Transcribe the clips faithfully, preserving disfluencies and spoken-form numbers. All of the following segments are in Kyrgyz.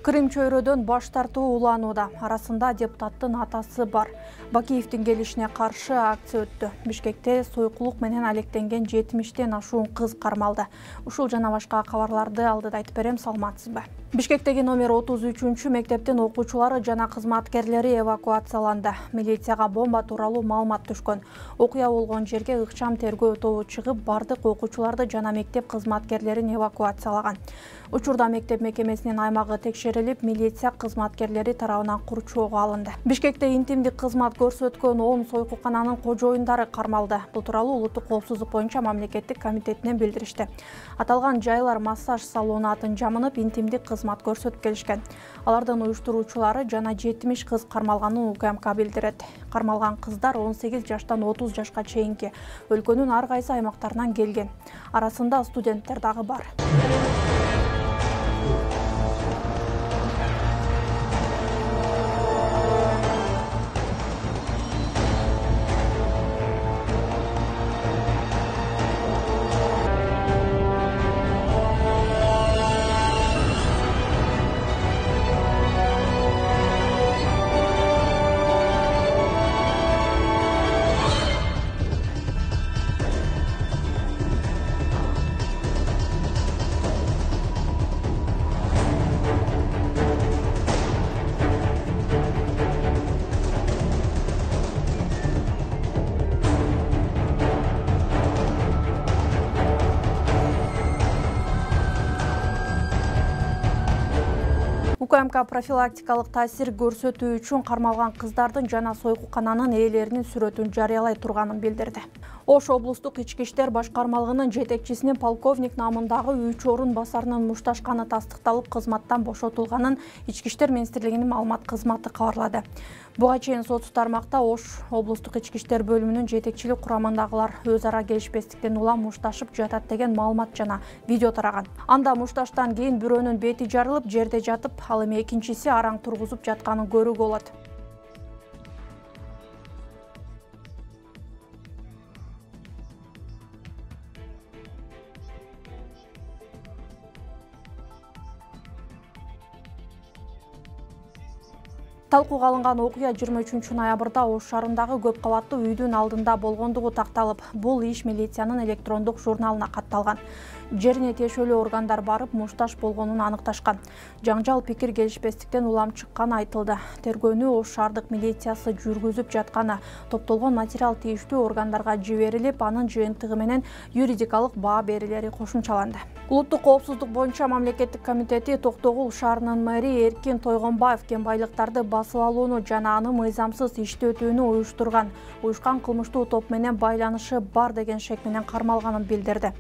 Крым чөйрөдөн баш тартуу уланууда. Арасында депутаттын атасы бар. Бакиевдин келишине каршы акция өттү. Бишкекте сойкулук менен алектенген жетимиштен ашуун кыз кармалды. Ушул жана башка кабарларды алдыда айтып берем, саламатсызбы? Бишкектеги номер отуз үчүнчү мектептин окуучулары жана кызматкерлери эвакуацияланды. Милицияга бомба тууралуу маалымат түшкөн. Окуя болгон жерге ыкчам тергөө тобу чыгып, бардык окуучуларды жана мектеп кызматкерлерин эвакуациялаган. Учурда мектеп мекемесинин аймагы текшерилип, милиция кызматкерлери тарабынан курчоого алынды. Бишкекте интимдик кызмат көрсөткөн он сойкукананын кожоюндары кармалды. Бул тууралуу Улуттук коопсуздук боюнча мамлекеттик комитетинен билдиришти. Аталган жайлар массаж салону атын жамынып, интимдик кызмат көрсөтүп келишкен. Алардын уюштуруучулары жана жетимиш кыз кармалганын УКМК билдирет. Кармалган кыздар он сегиз жаштан отуз жашка чейинки. Өлкөнүн ар кайсы аймактарынан келген. Арасында студенттер дагы бар. УКМК профилактикалык таасир көрсөтүү үчүн кармалган кыздардын жана сойкукананын ээлеринин сүрөтүн жарыялай турганын билдирди. Ош облустук ички иштер башкармалыгынын жетекчисинин полковник намындагы үч орун басарынын мушташканы тастыкталып, кызматтан бошотулганын Ички иштер министрлигинин маалымат кызматы кабарлады. Буга чейин сотсуз тармакта Ош облустук ички иштер бөлүмүнүн жетекчилик курамындагылар өз ара келишпестиктен улам мушташып жатат деген маалымат жана видео тараган. Анда мушташтан кийин бирөөнүн бети жарылып, жерде жатып, ал эми экинчиси араң тургузуп жатканын көрүүгө болот. Талкууга алынган окуя жыйырма үчүнчү ноябрда Ош шаарындагы көп кабаттуу үйдүн алдында болгондугу такталып, бул иш милициянын электрондук журналына катталган. Жерине тиешелүү органдар барып, мушташ болгонун аныкташкан. Жаңжал пикир келишпестиктен улам чыкканы айтылды. Тергөөнү Ош шаардык милициясы жүргүзүп жатканы, топтолгон материал тийиштүү органдарга жиберилип, анын жыйынтыгы менен юридикалык баа берилери кошумчаланды. Улуттук коопсуздук боюнча мамлекеттик комитети Токтогул шаарынын мэри Эркин Тойгонбаев кен байлыктарды басып алууну жана аны мыйзамсыз иштетүүнү уюштурган, уюшкан кылмыштуу топ менен байланышы бар деген шек менен кармалганын билдирди.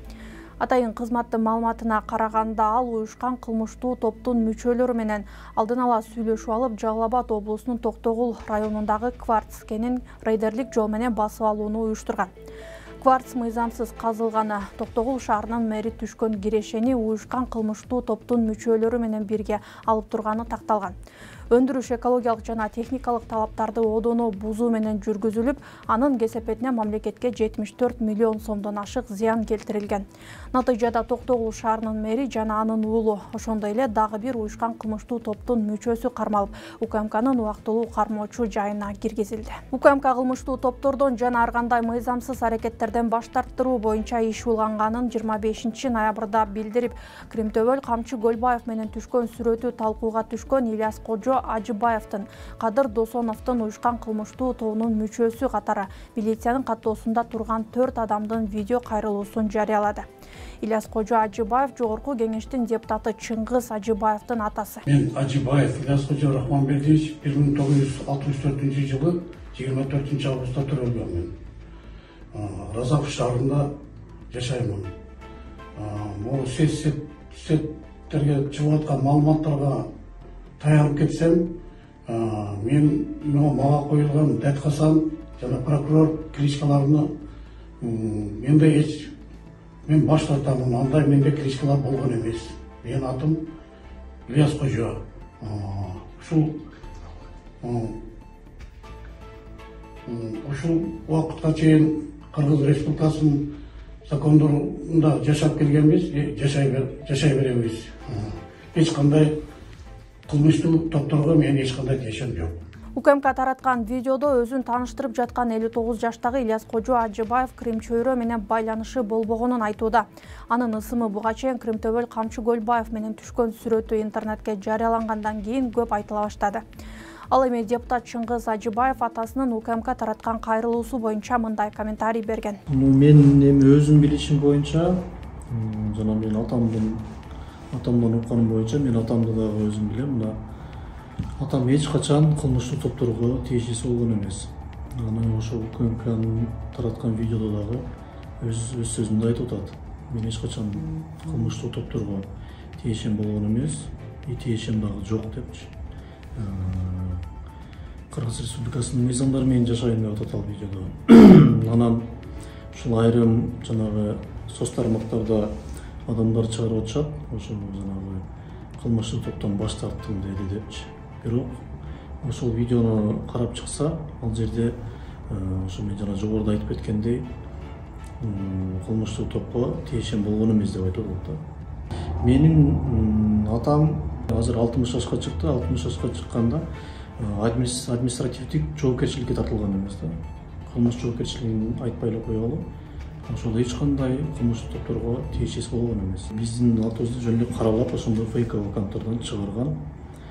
Атайын кызматтын маалыматына караганда, ал уюшкан кылмыштуу топтун мүчөлөрү менен алдын ала сүйлөшүп алып, Жалал Абад облусунун Токтогул районундагы кварц кенин рейдерлик жол менен басып алууну уюштурган. Кварц мыйзамсыз казылганы, Токтогул шаарынын мэри түшкөн кирешени уюшкан кылмыштуу топтун мүчөлөрү менен бирге алып турганы такталган. Өндүрүш экологиялык жана техникалык талаптарды одоно бузуу менен жүргүзүлүп, анын кесепетине мамлекетке жетимиш төрт миллион сомдон ашык зыян келтирилген. Натыйжада Токтогул шаарынын мэри жана анын уулу, ошондой эле дагы бир уюшкан кылмыштуу топтун мүчөсү кармалып, УКМКнын убактылуу кармоочу жайына киргизилди. УКМК кылмыштуу топтордон жана ар кандай мыйзамсыз аракеттерден баш тарттыруу боюнча иш уланганын жыйырма бешинчи ноябрда билдирип, Кримтөбөл Камчы Көлбаев менен түшкөн сүрөтү талкууга түшкөн Ильяс Кожо Ажыбаевдин, Кадыр Досоновдун уюшкан кылмыштуу тобунун мүчөсү катары милициянын каттоосунда турган төрт адамдын видео кайрылуусун жарыялады. Ильяс Кожо Ажыбаев жогорку кеңештин депутаты Чыңгыз Ажыбаевдин атасы. Мен Ажыбаев Ильяс Кожо Рахманбердиевич бир миң тогуз жүз алтымыш төртүнчү жылы жыйырма төртүнчү августта төрөлгөн. Мен Разаков шаарында жашаймын. Могу сеттерге чыгып аткан маалыматтарга таянып кетсем, мен мага коюлган Дәткасан жана прокурор кличкаларыны менде эч мен баш тартамын. Андай менде кличкалар болгон эмес. Менин атым Ильяс Кожо. Ушул ушул убакытка чейин Кыргыз Республикасынын закондорунда жашап келгенбиз, жашай жашай беребиз. Эч кандай кылмыштуу топторго менин эч кандай тиешем жок. УКМК тараткан видеодо өзүн тааныштырып жаткан элүү тогуз жаштагы Ильяс Кожо Ажыбаев Крим чөйрө менен байланышы болбогонун айтууда. Анын ысымы буга чейин Кримтөбөл Камчы Көлбаев менен түшкөн сүрөтү интернетке жарыялангандан кийин көп айтыла баштады. Ал эми депутат Чыңгыз Ажыбаев атасынын УКМК тараткан кайрылуусу боюнча мындай комментарий берген. Мен эми өзүм билишим боюнча, жана мен атамдын атамдан укканым боюнча, мен атамды дагы өзүм билем. Мына атам эч качан кылмыштуу топторго тиешеси болгон эмес. Аны ошо УКМКнын тараткан видеодо дагы өз өз сөзүндө айтып атат. Мен эч качан кылмыштуу топторго тиешем болгон эмес, и тиешем дагы жок депчи. Кыргыз Республикасынын мыйзамдары менен жашайм деп атат ал видеодо. Анан ушул айрым жанагы соц тармактарда адамдар чыгарып атышат, ошол жанагы кылмыштуу топтон баш тарттым деди депчи. Бирок ошол видеону карап чыкса, ал жерде ошо мен жана жогоруда айтып кеткендей, кылмыштуу топко тиешем болгон эмес деп айтып атат да. Менин атам азыр алтымыш жашка чыкты, алтымыш жашка чыкканда административдик жоопкерчиликке тартылган эмес да. Кылмыш жоопкерчилигин айтпай эле коелу. Ошол эч кандай кылмыштуу топторго тиешеси болгон эмес. Биздин атыбызды жөнүндө каралап, ошондой фейк аккаунттардан чыгарган.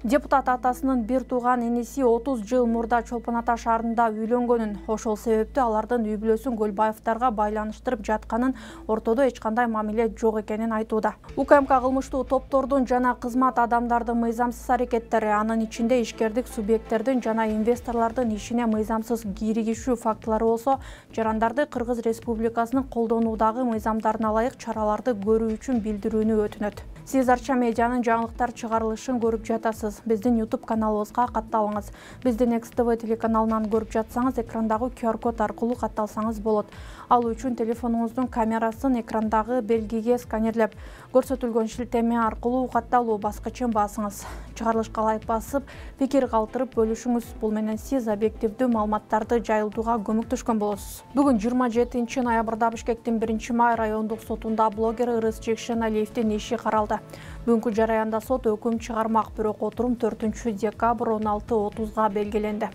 Депутат атасынын бир тууган иниси отуз жыл мурда Чолпон Ата шаарында үйлөнгөнүн, ошол себептүү алардын үй бүлөсүн Көлбаевдарга байланыштырып жатканын, ортодо эч кандай мамиле жок экенин айтууда. УКМК кылмыштуу топтордун жана кызмат адамдардын мыйзамсыз аракеттери, анын ичинде ишкердик субъекттердин жана инвесторлордун ишине мыйзамсыз киригишүү фактылары болсо, жарандарды Кыргыз Республикасынын колдонуудагы мыйзамдарына ылайык чараларды көрүү үчүн билдирүүнү өтүнөт. Сиз Арча медианын жаңылыктар чыгарылышын көрүп жатасыз. Биздин YouTube каналыбызга катталыңыз. Бизди Next T V телеканалынан көрүп жатсаңыз, экрандагы Q R код аркылуу катталсаңыз болот. Ал үчүн телефонуңуздун камерасын экрандагы белгиге сканерлеп, көрсөтүлгөн шилтеме аркылуу катталуу баскычын басыңыз. Чыгарылышка ылайык басып, пикир калтырып бөлүшүңүз. Бул менен сиз объективдүү маалыматтарды жайылтууга көмөктөшкөн болосуз. Бүгүн жыйырма жетинчи ноябрда Бишкектин биринчи май райондук сотунда блогер Ырыс Жекшеналиевдин иши каралды. Бүгүнкү жараянда сот өкүм чыгармак, бирок отурум төртүнчү декабрь он алты отузга белгиленди.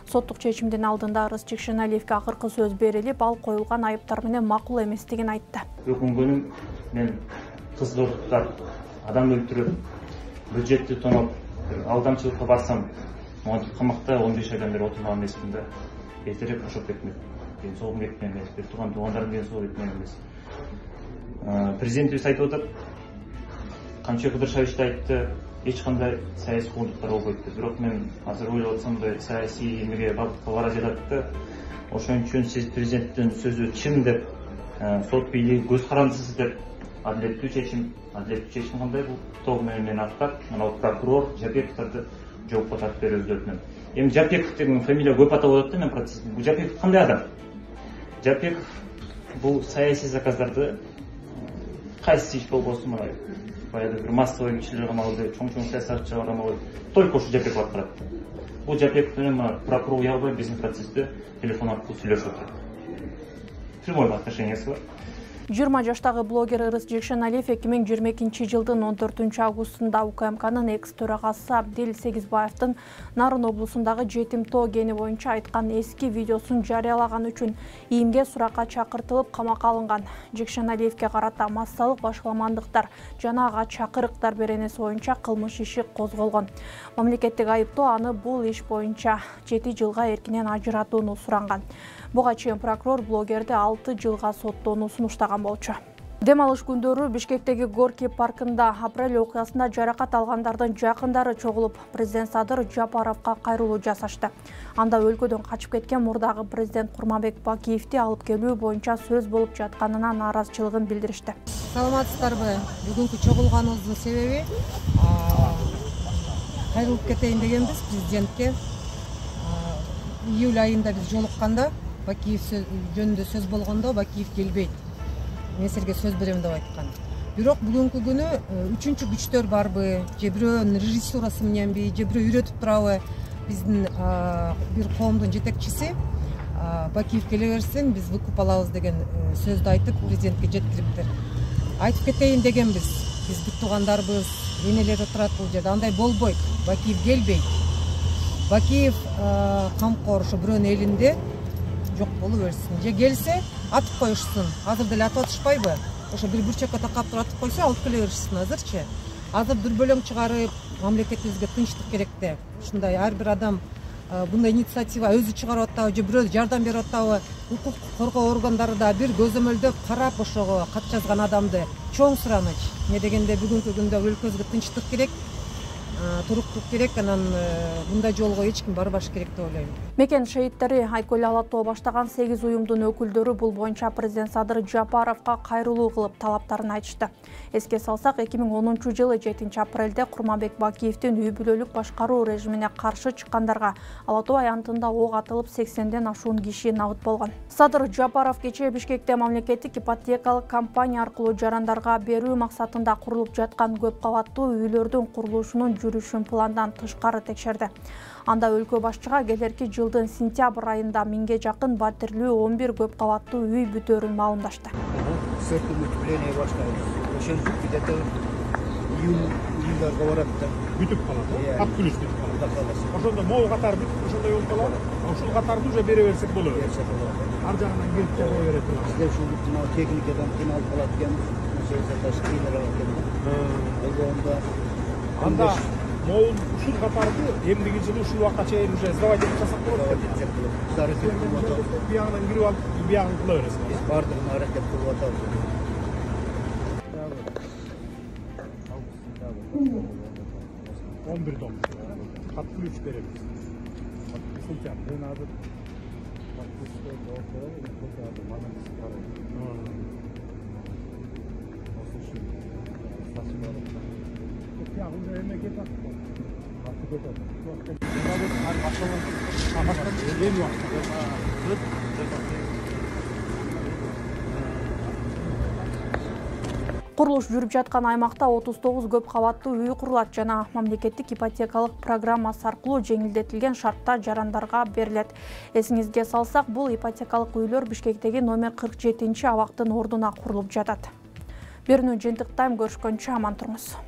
Соттук чечимдин алдында Ырыс Жекшеналиевге акыркы сөз берилип, ал коюлган айыптар менен макул эместигин айтты. Өкүнгөнүм мен кыз зордуктап, адам өлтүрүп, бюджетти тоноп, алдамчылыкка барсам, монтип камакта он беш айдан бери отурган эмесмин да. Эртерээк бошоп кетмек. Ден соолугум кеткен эмес, бир тууган туугандарым ден соолугу кеткен эмес. Президентибиз айтып атат, Камчы Кыдыршевич да айтты, эч кандай саясий куугунтуктар болбойт деп. Бирок мен азыр ойлоп атсам, саясий эмеге багытка бара жатат да. Ошон үчүн сиз президенттин сөзү чын деп, сот бийлиги көз карандысыз деп, адилеттүү чечим, адилеттүү чечим кандай бул тоо менен мен аттап, мына прокурор Жапековдорду жоопко тартып беребиз деп мен. Эми Жапеков деген фамилия көп атап атат да мен процесстин. Бул Жапеков кандай адам? Жапеков бул саясий заказдарды кайсы иш болбосун, мына баягы бир массовый кишилер камалды, чоң-чоң саясатчылар камалды, только ушу Жапеков аткарат. Бул Жапеков менен мына прокурор уялбай биздин процессте телефон аркылуу сүйлөшүп атат. Прямой отношениясы бар. жыйырма жаштагы блогер Ырыс Жекшеналиев эки миң жыйырма экинчи жылдын он төртүнчү августунда УКМКнын экс төрагасы Абдил Сегизбаевдин Нарын облусундагы жетим тоо кени боюнча айткан эски видеосун жарыялаган үчүн ийимге суракка чакыртылып камакка алынган. Жекшеналиевге карата массалык башаламандыктар жана ага чакырыктар беренеси боюнча кылмыш иши козголгон. Мамлекеттик айыптоо аны бул иш боюнча жети жылга эркинен ажыратууну суранган. Буга чейин прокурор блогерди алты жылга соттоону сунуштаган болчу. Дем алыш күндөрү Бишкектеги Горки паркында апрель окуясында жаракат алгандардын жакындары чогулуп, президент Садыр Жапаровго кайрылуу жасашты. Анда өлкөдөн качып кеткен мурдагы президент Курманбек Бакиевди алып келүү боюнча сөз болуп жатканына нааразычылыгын билдиришти. Саламатсыздарбы? Бүгүнкү чогулганыбыздын себеби кайрылып кетейин дегенбиз президентке. Июль айында биз жолукканда Бакиев жөнүндө сөз болгондо Бакиев келбейт. Мен силерге сөз берем деп айткан. Бирок бүгүнкү күнү үчүнчү күчтөр барбы, же бирөөнүн режиссурасы мененби, же бирөө үйрөтүп турабы, биздин бир коомдун жетекчиси Бакиев келе берсин, биз выкуп алабыз деген сөздү айтып президентке жеткириптир. Айтып кетейин дегенбиз. биз бүт туугандарыбыз, энелер отурат бул жерде. Андай болбойт. Бакиев келбейт. Бакиев камкор ушу бирөөнүн элинде жок боло берсин. Же келсе, атып коюшсун. Азыр деле атып атышпайбы? Ошо бир бурчакка такап туруп атып койсо, алып келе беришсин азырчы. Азыр дүрбөлөң чыгарып, мамлекетибизге тынчтык керек да. Ушундай ар бир адам bunday инициатива өзү чыгарып атабы же бирөө жардам берип атабы, укук коргоо органдары да бир көзөмөлдөп карап ошого кат жазган адамды чоң сураныч. Эмне дегенде бүгүнкү күндө өлкөбүзгө тынчтык керек, туруктук керек, анан мындай жолго эч ким барбаш керек деп ойлойм. Мекен шейиттери Айкөл Алатоо баштаган сегиз уюмдун өкүлдөрү бул боюнча президент Садыр Жапаровго кайрылуу кылып талаптарын айтышты. Эске салсак, эки миң онунчу жылы жетинчи апрелде Курманбек Бакиевдин үй бүлөлүк башкаруу режимине каршы чыккандарга Алатоо аянтында ок атылып сексенден ашуун киши набыт болгон. Садыр Жапаров кечээ Бишкекте мамлекеттик ипотекалык компания аркылуу жарандарга берүү максатында курулуп жаткан көп кабаттуу үйлөрдүн курулушунун жүрүшүн пландан тышкары текшерди. Анда өлкө башчыга келерки жылдын сентябрь айында миңге жакын батирлүү он бир көп кабаттуу үй бүтөөрүн маалымдашты. Ошентип где-то июнь-июльдарга барат да. Бүтүп калат, ат күнүс бүтүп калат. Ошондо могу катар бүтүп, ошондой болуп калат. Ушул катарды уже бере берсек болот. Ар жагынан келип жабо берет. Бизде ушул мына техникадан кыйналып калат экен. Ошол кыйналат экен. Анда могу ушул катарды эмдиги жылы ушул убакка чейин уже сдавать этип жасап болот экен. Биягынан кирип алып, биягын кыла бересиз. Биз бардыгын аракет кылып атабыз. он бир дом. Кат ключ беребиз. Сентябрь надо. Ya уже эме кетат. Катты кетат. Курулуш жүрүп жаткан аймакта отуз тогуз көп кабаттуу үй курулат жана мамлекеттик ипотекалык программасы аркылуу жеңилдетилген шартта жарандарга берилет. Эсиңизге салсак, бул ипотекалык үйлөр Бишкектеги номер кырк жетинчи абактын ордуна курулуп жатат. Берүүнү жыйынтыктайм, көрүшкөнчө аман туруңуз.